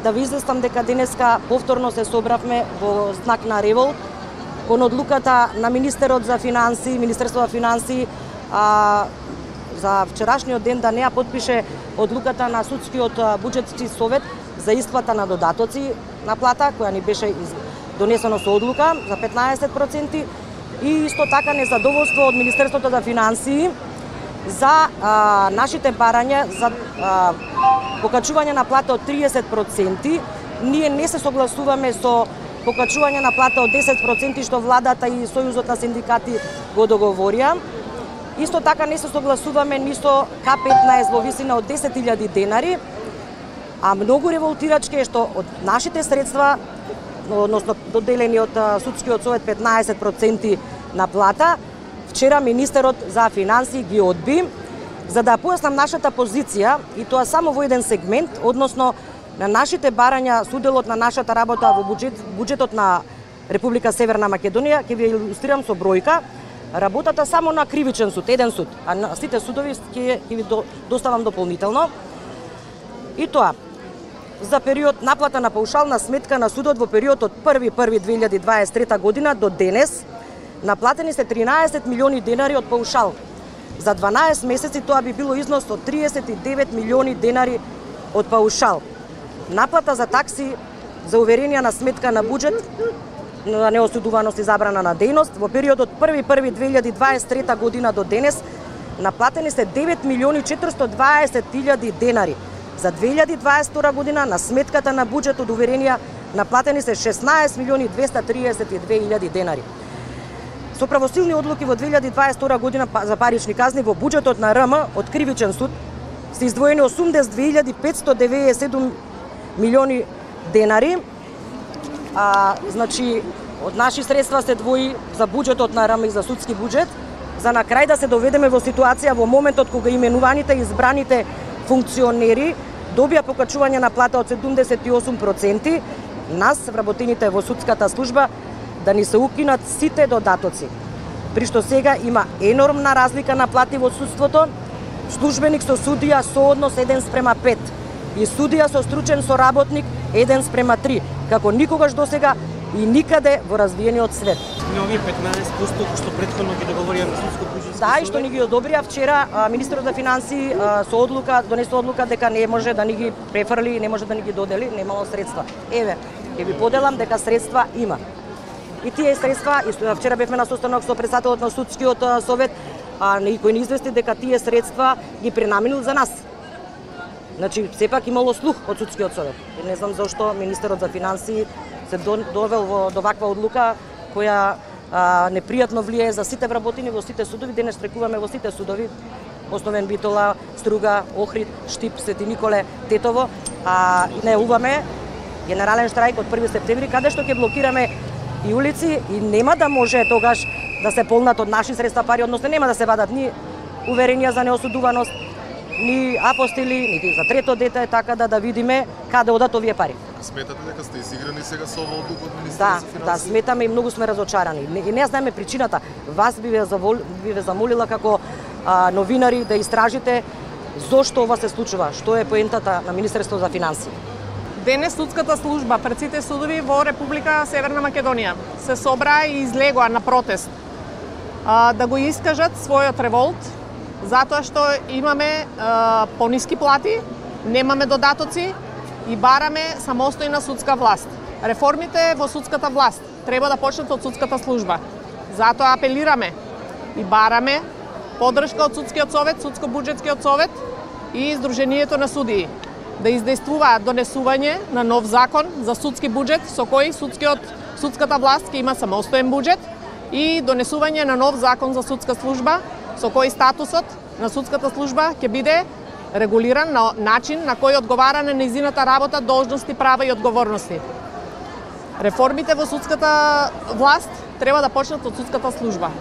да ви известам дека денеска повторно се собравме во знак на револт кон одлуката на министерот за финансии, Министерство за финансии, за вчерашниот ден да не ја потпише одлуката на судскиот буџетски совет за исплата на додатоци на плата, која ни беше донесено со одлука за 15%, и исто така незадоволство од Министерството за финансии за нашите барања за покачување на плата од 30%. Ние не се согласуваме со покачување на плата од 10% што владата и Сојузот на синдикати го договорија. Исто така не се согласуваме ни со К15 во висина од 10.000 денари, а многу револтирачки е што од нашите средства, односно доделени од судскиот совет 15% на плата, вчера министерот за финансии ги одби. За да појаснам нашата позиција, и тоа само во еден сегмент, односно на нашите барања, суделот на нашата работа во буџетот на Република Северна Македонија, ќе ви илустрирам со бројка. Работата само на кривичен суд, еден суд, а на сите судови ќе ви доставам дополнително. И тоа, за период наплата на паушална сметка на судот во период од 1.1.2023 година до денес, наплатени се 13 милиони денари од паушал. За 12 месеци тоа би било износ од 39 милиони денари од паушал. Наплата за такси за уверенија на сметка на буџет на неосудуваност и забрана на дејност во период од 1.1.2023 година до денес наплатени се 9 милиони 420 илјади денари. За 2022 година на сметката на буџет од уверенија наплатени се 16 милиони 232 илјади денари. Со правосилни одлуки во 2022 година за парични казни во буџетот на РМ од кривичен суд се издвоени 82.597 милиони денари. Значи, од наши средства се двои за буџетот на РМ и за судски буџет, за на крај да се доведеме во ситуација во моментот кога именуваните и избраните функционери добија покачување на плата од 78%, нас, вработените во судската служба, да ни се укинат сите додатоци. При што сега има енормна разлика на плати во судството, службеник со судија сооднос 1:5 и судија со стручен соработник 1:3, како никогаш досега и никаде во развиениот свет. На овие 15% што претходно ги договорија на судско буџетско. Да, и што ни ги одобрија вчера министерот за финансии со одлука донесе одлука дека не може да ни ги префрли, не може да ни ги додели, немало средства. Еве, ќе ви поделам дека средства има. И тие средства, вчера бевме на состанок со председателот на судскиот совет, кој ни извести дека тие средства ги пренаменил за нас. Значи, сепак имало слух од судскиот совет. И не знам зашто министерот за финансии се довел до ваква одлука која непријатно влијае за сите вработени во сите судови. Денес штрекуваме во сите судови: Основен Битола, Струга, Охрид, Штип, Свети Николе, Тетово. Најавуваме генерален штрајк од 1 септември, каде што ќе блокираме и улици и нема да може тогаш да се полнат од наши средства пари, односно нема да се вадат ни уверенија за неосудуваност, ни апостили, нити за трето дете, така да видиме каде одат овие пари. Сметате дека сте изиграни сега со оваа одлука од Министерството за финансии? Да, сметаме и многу сме разочарани. И не знаеме причината. Вас би ве замолила како новинари да истражите зошто ова се случува, што е поентата на Министерството за финансии. Денес судската служба пред сите судови во Република Северна Македонија се собра и излегоа на протест да го искажат својот револт, затоа што имаме пониски плати, немаме додатоци и бараме самостојна судска власт. Реформите во судската власт треба да почнат од судската служба. Затоа апелираме и бараме поддршка од судскиот совет, судско-буџетскиот совет и Сдруженијето на судии да издействуваат донесување на нов закон за судски буџет со кој судската власт ќе има самостоен буџет и донесување на нов закон за судска служба со кој статусот на судската служба ќе биде регулиран на начин на кој одговара на нејзината работа, должности, права и одговорности. Реформите во судската власт треба да почнат од судската служба.